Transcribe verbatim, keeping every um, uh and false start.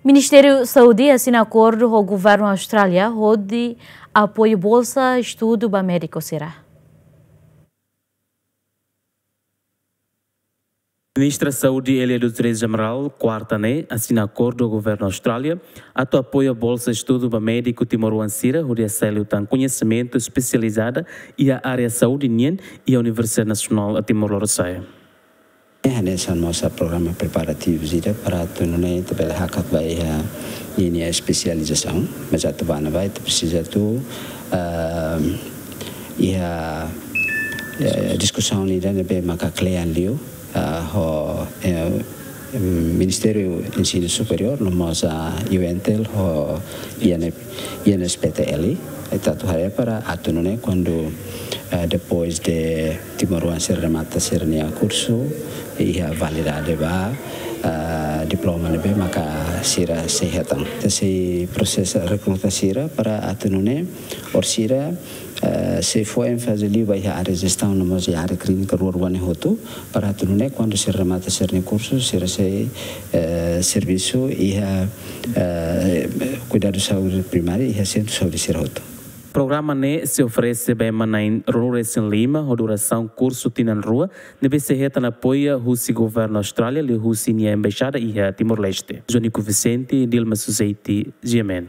Ministériu Saúde asina akordu ho governu Austrália hodi apoiu bolsa estudu ba médiku sira. Ministra Saúde Elia Dutreize Amaral, kuarta ne'e, asina akordu ho governu Austrália atu apoiu bolsa estudu ba médiku timoroan sira hodi hasai liután koñesimentu espesializada iha área saúde nian iha Universidade Nasionál Timor Lorosa'e. Hanesan mós programa preparativu sira para atu nune'e ita bele hakat ba iha ninia espesializasaun, mas atu bá ne'ebá ita presiza atu, ah, iha, eh, diskusaun ida ne'ebé maka kle'an liu, ah, ho, eh, Ministériu Ensinu Superiór, no mós, ah, UNTL, ho I N, I N S P T L, ita atu haree para atu nune'e kuandu, eh, depois de timoroan sira remata sira-nia kursu, iha validade ba, eh, diploma ne'ebé maka sira sei hetan. Ita sei prosesa rekruta sira para atu nune'e orsida, eh, sei fó énfaze liu ba iha área jestaun no mós iha área klínika rua-rua ne'e hotu, para atu nune'e kuandu sira remata sira-nia kursu, sira sei, eh, servisu iha, eh, kuidadu saúde primária iha sentru saúde sira hotu. Programa ne'e sei oferese ba ema na'in ruanulu-resin-lima ho durasaun kursu tinan rua, ne'ebé sei hetan apoiu husi governu Austrália liuhusi nia embaixada iha Timor-Leste. Jonico Vicente, Dilma Suzeti, G M N.